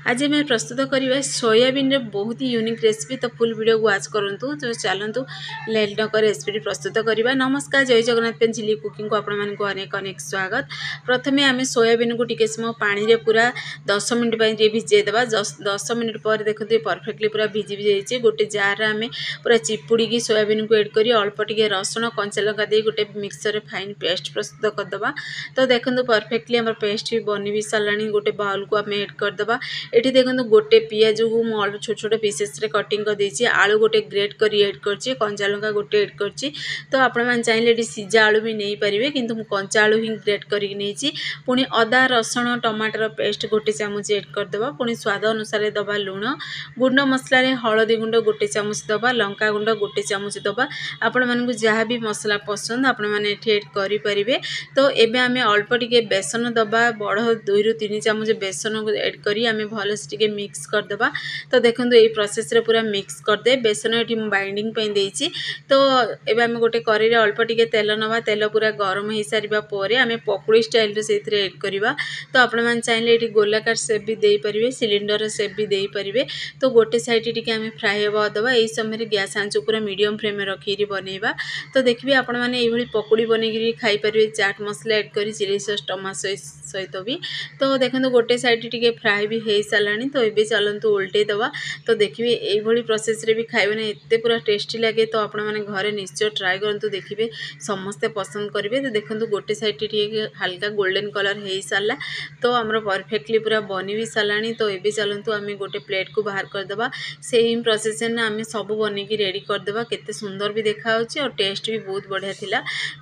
ଆଜି ଆମେ ପ୍ରସ୍ତୁତ କରିବା ସୋୟାବିନ୍ର ବହୁତ ୟୁନିକ୍ ରେସିପି। ତ ଫୁଲ୍ ଭିଡ଼ିଓକୁ ୱାଚ୍ କରନ୍ତୁ। ତ ଚାଲନ୍ତୁ, ଲେଟ୍ ନକରି ରେସିପିଟି ପ୍ରସ୍ତୁତ କରିବା। ନମସ୍କାର, ଜୟ ଜଗନ୍ନାଥ। ପେନ୍ ଝିଲି କୁକିଂକୁ ଆପଣମାନଙ୍କୁ ଅନେକ ଅନେକ ସ୍ୱାଗତ। ପ୍ରଥମେ ଆମେ ସୋୟାବିନ୍କୁ ଟିକେ ସମୟ ପାଣିରେ ପୁରା 10 ମିନିଟ୍ ପାଇଁ ଟିକେ ଭିଜେଇ ଦେବା। 10 ମିନିଟ୍ ପରେ ଦେଖନ୍ତୁ, ପରଫେକ୍ଟଲି ପୁରା ଭିଜି ଯାଇଛି। ଗୋଟେ ଜାର୍ରେ ଆମେ ପୁରା ଚିପୁଡ଼ିକି ସୋୟାବିନ୍କୁ ଏଡ଼୍ କରି ଅଳ୍ପ ଟିକେ ରସୁଣ, କଞ୍ଚା ଲଙ୍କା ଦେଇ ଗୋଟେ ମିକ୍ସରରେ ଫାଇନ୍ ପେଷ୍ଟ ପ୍ରସ୍ତୁତ କରିଦେବା। ତ ଦେଖନ୍ତୁ, ପରଫେକ୍ଟଲି ଆମର ପେଷ୍ଟ ବି ବନି ବି ସାରିଲାଣି। ଗୋଟେ ବାଉଲକୁ ଆମେ ଏଡ଼୍ କରିଦେବା। ଏଠି ଦେଖନ୍ତୁ, ଗୋଟେ ପିଆଜକୁ ମୁଁ ଅଳ୍ପ ଛୋଟ ଛୋଟ ପିସେସ୍ରେ କଟିଂ କରିଦେଇଛି। ଆଳୁ ଗୋଟେ ଗ୍ରେଟ୍ କରି ଏଡ଼୍ କରିଛି। କଞ୍ଚା ଲଙ୍କା ଗୋଟେ ଏଡ଼୍ କରିଛି। ତ ଆପଣମାନେ ଚାହିଁଲେ ଏଠି ସିଝା ଆଳୁ ବି ନେଇପାରିବେ, କିନ୍ତୁ ମୁଁ କଞ୍ଚା ଆଳୁ ହିଁ ଗ୍ରେଟ୍ କରିକି ନେଇଛି। ପୁଣି ଅଦା, ରସୁଣ, ଟମାଟର ପେଷ୍ଟ ଗୋଟେ ଚାମଚ ଏଡ଼୍ କରିଦେବା। ପୁଣି ସ୍ୱାଦ ଅନୁସାରେ ଦେବା ଲୁଣ। ଗୁଣ୍ଡ ମସଲାରେ ହଳଦୀ ଗୁଣ୍ଡ ଗୋଟେ ଚାମଚ ଦେବା, ଲଙ୍କା ଗୁଣ୍ଡ ଗୋଟେ ଚାମଚ ଦେବା। ଆପଣମାନଙ୍କୁ ଯାହା ବି ମସଲା ପସନ୍ଦ, ଆପଣମାନେ ଏଠି ଏଡ଼୍ କରିପାରିବେ। ତ ଏବେ ଆମେ ଅଳ୍ପ ଟିକେ ବେସନ ଦେବା। ବଡ଼ 2ରୁ 3 ଚାମଚ ବେସନକୁ ଏଡ଼୍ କରି ଆମେ ଭଲସେ ଟିକେ ମିକ୍ସ କରିଦେବା। ତ ଦେଖନ୍ତୁ, ଏଇ ପ୍ରୋସେସ୍ରେ ପୁରା ମିକ୍ସ କରିଦେବେ। ବେସନ ଏଠି ମୁଁ ବାଇଣ୍ଡିଂ ପାଇଁ ଦେଇଛି। ତ ଏବେ ଆମେ ଗୋଟେ କରେଇରେ ଅଳ୍ପ ଟିକେ ତେଲ ନେବା। ତେଲ ପୁରା ଗରମ ହେଇସାରିବା ପରେ ଆମେ ପକୁଡ଼ି ଷ୍ଟାଇଲରେ ସେଇଥିରେ ଏଡ଼୍ କରିବା। ତ ଆପଣମାନେ ଚାହିଁଲେ ଏଠି ଗୋଲାକାର ସେପ୍ ବି ଦେଇପାରିବେ, ସିଲିଣ୍ଡର ସେପ୍ ବି ଦେଇପାରିବେ। ତ ଗୋଟେ ସାଇଡ଼୍ ଟିକେ ଆମେ ଫ୍ରାଏ ହେବାକୁ ଦେବା। ଏଇ ସମୟରେ ଗ୍ୟାସ୍ ଆଞ୍ଚ ପୁରା ମିଡ଼ିୟମ୍ ଫ୍ଲେମ୍ରେ ରଖିକିରି ବନେଇବା। ତ ଦେଖିବେ, ଆପଣମାନେ ଏଇଭଳି ପକୁଡ଼ି ବନେଇକିରି ଖାଇପାରିବେ ଚାଟ୍ ମସଲା ଏଡ଼୍ କରି, ଚିଲି ସସ୍, ଟମାଟୋ ସସ୍ ସହିତ ବି। ତ ଦେଖନ୍ତୁ, ଗୋଟେ ସାଇଡ଼୍ ଟିକେ ଫ୍ରାଏ ବି ହେଇସାରିଲାଣି। ତ ଏବେ ଚାଲନ୍ତୁ ଓଲଟେଇ ଦେବା। ତ ଦେଖିବେ, ଏଇଭଳି ପ୍ରୋସେସ୍ରେ ବି ଖାଇବେ ନା, ଏତେ ପୁରା ଟେଷ୍ଟି ଲାଗେ। ତ ଆପଣମାନେ ଘରେ ନିଶ୍ଚୟ ଟ୍ରାଏ କରନ୍ତୁ, ଦେଖିବେ ସମସ୍ତେ ପସନ୍ଦ କରିବେ। ତ ଦେଖନ୍ତୁ, ଗୋଟେ ସାଇଡ଼୍ ଟିକେ ହାଲକା ଗୋଲ୍ଡେନ୍ କଲର୍ ହେଇସାରିଲା। ତ ଆମର ପରଫେକ୍ଟଲି ପୁରା ବନି ବି ସାରିଲାଣି। ତ ଏବେ ଚାଲନ୍ତୁ, ଆମେ ଗୋଟେ ପ୍ଲେଟ୍କୁ ବାହାର କରିଦେବା। ସେମ୍ ପ୍ରୋସେସ୍ରେ ଆମେ ସବୁ ବନେଇକି ରେଡ଼ି କରିଦେବା। କେତେ ସୁନ୍ଦର ବି ଦେଖାହେଉଛି ଆଉ ଟେଷ୍ଟ ବି ବହୁତ ବଢ଼ିଆ ଥିଲା।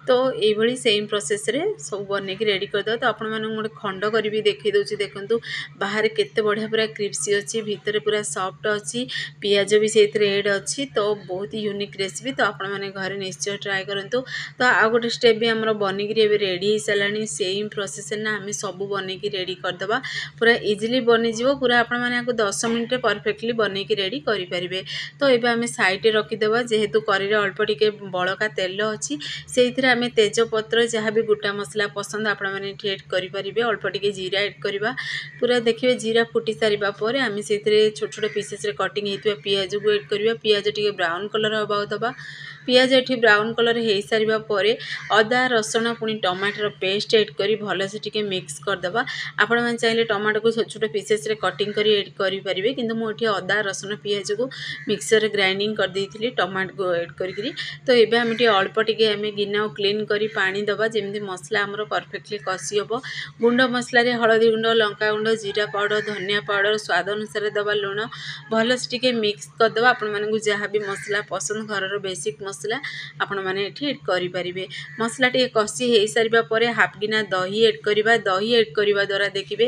ତ ଏଇଭଳି ସେମ୍ ପ୍ରୋସେସ୍ରେ ସବୁ ବନେଇକି ରେଡ଼ି କରିଦେବା। ତ ଆପଣମାନଙ୍କୁ ଗୋଟେ ଖଣ୍ଡ କରି ବି ଦେଖାଇ ଦେଉଛି। ଦେଖନ୍ତୁ, ବାହାରେ କେତେ ବଢ଼ିଆ ପୁରା କ୍ରିସ୍ପି ଅଛି, ଭିତରେ ପୁରା ସଫ୍ଟ ଅଛି, ପିଆଜ ବି ସେଇଥିରେ ଏଡ଼୍ ଅଛି। ତ ବହୁତ ୟୁନିକ୍ ରେସିପି। ତ ଆପଣମାନେ ଘରେ ନିଶ୍ଚୟ ଟ୍ରାଏ କରନ୍ତୁ। ତ ଆଉ ଗୋଟେ ଷ୍ଟେପ୍ ବି ଆମର ବନିକିରି ଏବେ ରେଡ଼ି ହେଇସାରିଲାଣି। ସେମ୍ ପ୍ରୋସେସ୍ରେ ନା ଆମେ ସବୁ ବନେଇକି ରେଡ଼ି କରିଦେବା। ପୁରା ଇଜିଲି ବନିଯିବ ପୁରା। ଆପଣମାନେ ଆକୁ 10 ମିନିଟ୍ରେ ପରଫେକ୍ଟଲି ବନେଇକି ରେଡ଼ି କରିପାରିବେ। ତ ଏବେ ଆମେ ସାଇଡ଼୍ରେ ରଖିଦେବା। ଯେହେତୁ କରେଇରେ ଅଳ୍ପ ଟିକେ ବଳକା ତେଲ ଅଛି, ସେଇଥିରେ ଆମେ ତେଜପତ୍ର, ଯାହା ବି ଗୋଟା ମସଲା ପସନ୍ଦ, ଆପଣମାନେ ଏଠି ଏଡ଼୍ କରିପାରିବେ। ଅଳ୍ପ ଟିକେ ଜିରା ଏଡ଼୍ କରିବା। ପୁରା ଦେଖିବେ, ଜିରା ଫୁଟି ସାରିବା ପରେ ଆମେ ସେଇଥିରେ ଛୋଟ ଛୋଟ ପିସେସ୍ରେ କଟିଂ ହେଇଥିବା ପିଆଜକୁ ଏଡ଼୍ କରିବା। ପିଆଜ ଟିକେ ବ୍ରାଉନ୍ କଲର୍ ହେବାକୁ ଦେବା। ପିଆଜ ଏଠି ବ୍ରାଉନ୍ କଲର୍ ହେଇସାରିବା ପରେ ଅଦା, ରସୁଣ, ପୁଣି ଟମାଟର ପେଷ୍ଟ ଏଡ଼୍ କରି ଭଲସେ ଟିକେ ମିକ୍ସ କରିଦେବା। ଆପଣମାନେ ଚାହିଁଲେ ଟମାଟୋକୁ ଛୋଟ ଛୋଟ ପିସେସ୍ରେ କଟିଂ କରି ଏଡ଼୍ କରିପାରିବେ, କିନ୍ତୁ ମୁଁ ଏଠି ଅଦା, ରସୁଣ, ପିଆଜକୁ ମିକ୍ସରରେ ଗ୍ରାଇଣ୍ଡିଂ କରିଦେଇଥିଲି ଟମାଟୋକୁ ଏଡ଼୍ କରିକିରି। ତ ଏବେ ଆମେ ଟିକେ ଅଳ୍ପ ଟିକେ ଆମେ ଗିନାକୁ କ୍ଲିନ୍ କରି ପାଣି ଦେବା, ଯେମିତି ମସଲା ଆମର ପରଫେକ୍ଟଲି କଷି ହେବ। ଗୁଣ୍ଡ ମସଲାରେ ହଳଦୀ ଗୁଣ୍ଡ, ଲଙ୍କା ଗୁଣ୍ଡ, ଜିରା ପାଉଡ଼ର, ଧନିଆ ପାଉଡ଼ର, ସ୍ୱାଦ ଅନୁସାରେ ଦେବା ଲୁଣ। ଭଲସେ ଟିକେ ମିକ୍ସ କରିଦେବା। ଆପଣମାନଙ୍କୁ ଯାହା ବି ମସଲା ପସନ୍ଦ, ଘରର ବେସିକ୍ ମସଲା, ଆପଣମାନେ ଏଠି ଏଡ଼୍ କରିପାରିବେ। ମସଲା ଟିକେ କଷି ହେଇସାରିବା ପରେ ହାଫ୍ ଗିନା ଦହି ଏଡ଼୍ କରିବା। ଦହି ଏଡ଼୍ କରିବା ଦ୍ୱାରା ଦେଖିବେ,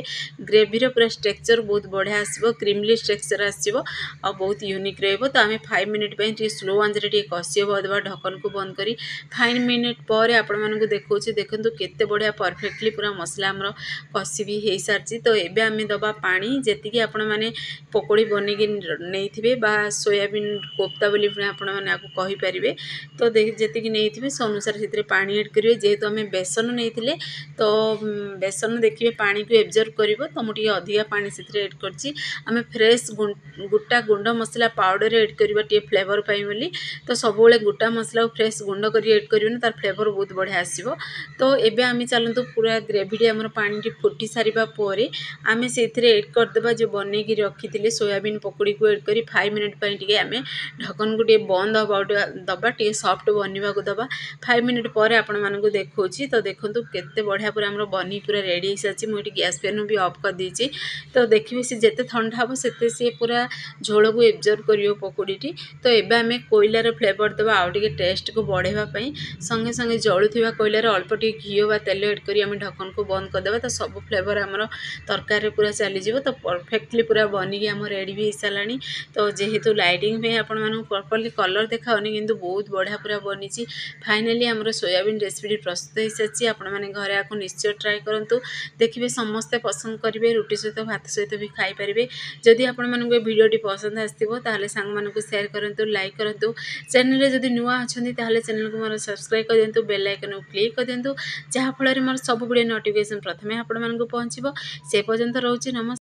ଗ୍ରେଭିର ପୁରା ଷ୍ଟ୍ରକ୍ଚର୍ ବହୁତ ବଢ଼ିଆ ଆସିବ, କ୍ରିମି ଷ୍ଟ୍ରକ୍ଚର୍ ଆସିବ ଆଉ ବହୁତ ୟୁନିକ୍ ରହିବ। ତ ଆମେ 5 ମିନିଟ୍ ପାଇଁ ଟିକେ ସ୍ଲୋ ଆଞ୍ଚରେ ଟିକେ କଷି ହେବାକୁ ଦେବା ଢକନକୁ ବନ୍ଦ କରି। 5 ମିନିଟ୍ ପରେ ଆପଣମାନଙ୍କୁ ଦେଖାଉଛି। ଦେଖନ୍ତୁ, କେତେ ବଢ଼ିଆ ପରଫେକ୍ଟଲି ପୁରା ମସଲା ଆମର କଷି ବି ହେଇସାରିଛି। ତ ଏବେ ଆମେ ଦେବା ପାଣି, ଯେତିକି ଆପଣମାନେ ପକୋଡ଼ି ବନେଇକି ନେଇଥିବେ ବା ସୋୟାବିନ୍ କୋଫ୍ତା ବୋଲି ଆପଣମାନେ ଆକୁ କହିପାରିବେ। ତ ଯେତିକି ନେଇଥିବେ, ସେ ଅନୁସାରେ ସେଥିରେ ପାଣି ଏଡ଼୍ କରିବେ। ଯେହେତୁ ଆମେ ବେସନ ନେଇଥିଲେ, ତ ବେସନ ଦେଖିବେ ପାଣିକୁ ଏବଜର୍ବ କରିବ। ତ ମୁଁ ଟିକେ ଅଧିକା ପାଣି ସେଥିରେ ଏଡ଼୍ କରିଛି। ଆମେ ଫ୍ରେଶ୍ ଗୋଟା ଗୁଣ୍ଡ ମସଲା ପାଉଡ଼ର ଏଡ଼୍ କରିବା ଟିକେ ଫ୍ଲେଭର୍ ପାଇଁ ବୋଲି। ତ ସବୁବେଳେ ଗୋଟା ମସଲାକୁ ଫ୍ରେଶ୍ ଗୁଣ୍ଡ କରି ଏଡ଼୍ କରିବେନି, ତାର ଫ୍ଲେଭର୍ ବହୁତ ବଢ଼ିଆ ଆସିବ। ତ ଏବେ ଆମେ ଚାଲନ୍ତୁ, ପୁରା ଗ୍ରେଭିଟି ଆମର ପାଣିଟି ଫୁଟି ସାରିବା ପରେ ଆମେ ସେଇଥିରେ ଏଡ଼୍ କରିଦେବା ଯେଉଁ ବନେଇକି ରଖିଥିଲେ ସୋୟାବିନ୍ ପକୋଡ଼ିକୁ। ଏଡ଼୍ କରି 5 ମିନିଟ୍ ପାଇଁ ଟିକେ ଆମେ ଢକନକୁ ଟିକେ ବନ୍ଦ ହେବାକୁ ଦେବା, ଟିକେ ସଫ୍ଟ ବନିବାକୁ ଦେବା। 5 ମିନିଟ୍ ପରେ ଆପଣମାନଙ୍କୁ ଦେଖାଉଛି। ତ ଦେଖନ୍ତୁ, କେତେ ବଢ଼ିଆ ପୁରା ଆମର ବନି ପୁରା ରେଡ଼ି ହେଇସାରିଛି। ମୁଁ ଏଠି ଗ୍ୟାସ୍ ଫ୍ଲେମ୍ ବି ଅଫ୍ କରିଦେଇଛି। ତ ଦେଖିବେ, ସେ ଯେତେ ଥଣ୍ଡା ହେବ, ସେତେ ସିଏ ପୁରା ଝୋଳକୁ ଏବଜର୍ବ କରିବ ପକୋଡ଼ିଟି। ତ ଏବେ ଆମେ କୋଇଲାର ଫ୍ଲେଭର୍ ଦେବା ଆଉ ଟିକେ ଟେଷ୍ଟକୁ ବଢ଼ାଇବା ପାଇଁ। ସଙ୍ଗେ ସଙ୍ଗେ ଜଳୁଥିବା କୋଇଲାରେ ଅଳ୍ପ ଟିକେ ଘିଅ ବା ତେଲ ଏଡ଼୍ କରି ଆମେ ଢକନକୁ ବନ୍ଦ କରିଦେବା। ତ ସବୁ ଫ୍ଲେଭର୍ ଆମର ତରକାରୀରେ ପୁରା ଚାଲିଯିବ। ତ ପରଫେକ୍ଟଲି ପୁରା ବନିକି ଆମ ରେଡ଼ି ବି ହେଇସାରିଲାଣି। ତ ଯେହେତୁ ଲାଇଟିଂ ପାଇଁ ଆପଣମାନଙ୍କୁ ପ୍ରପରଲି କଲର୍ ଦେଖାଉନି, କିନ୍ତୁ ବହୁତ ବଢ଼ିଆ ପୁରା ବନିଛି। ଫାଇନାଲି ଆମର ସୋୟାବିନ୍ ରେସିପିଟି ପ୍ରସ୍ତୁତ ହେଇସାରିଛି। ଆପଣମାନେ ଘରେ ଆକୁ ନିଶ୍ଚୟ ଟ୍ରାଏ କରନ୍ତୁ, ଦେଖିବେ ସମସ୍ତେ ପସନ୍ଦ କରିବେ। ରୁଟି ସହିତ, ଭାତ ସହିତ ବି ଖାଇପାରିବେ। ଯଦି ଆପଣମାନଙ୍କୁ ଏ ଭିଡ଼ିଓଟି ପସନ୍ଦ ଆସିଥିବ, ତାହେଲେ ସାଙ୍ଗମାନଙ୍କୁ ସେୟାର କରନ୍ତୁ, ଲାଇକ୍ କରନ୍ତୁ। ଚ୍ୟାନେଲରେ ଯଦି ନୂଆ ଅଛନ୍ତି, ତାହେଲେ ଚ୍ୟାନେଲକୁ ମୋର ସବସ୍କ୍ରାଇବ୍ କରିଦିଅନ୍ତୁ, ବେଲ୍ ଆଇକନ୍କୁ କ୍ଲିକ୍ କରିଦିଅନ୍ତୁ, ଯାହାଫଳରେ ମୋର ସବୁ ଭିଡ଼ିଓ ନୋଟିଫିକେସନ୍ ପ୍ରଥମେ ଆପଣମାନଙ୍କୁ ପହଞ୍ଚିବ। ସେ ପର୍ଯ୍ୟନ୍ତ ରହୁଛି, ନମସ୍କାର।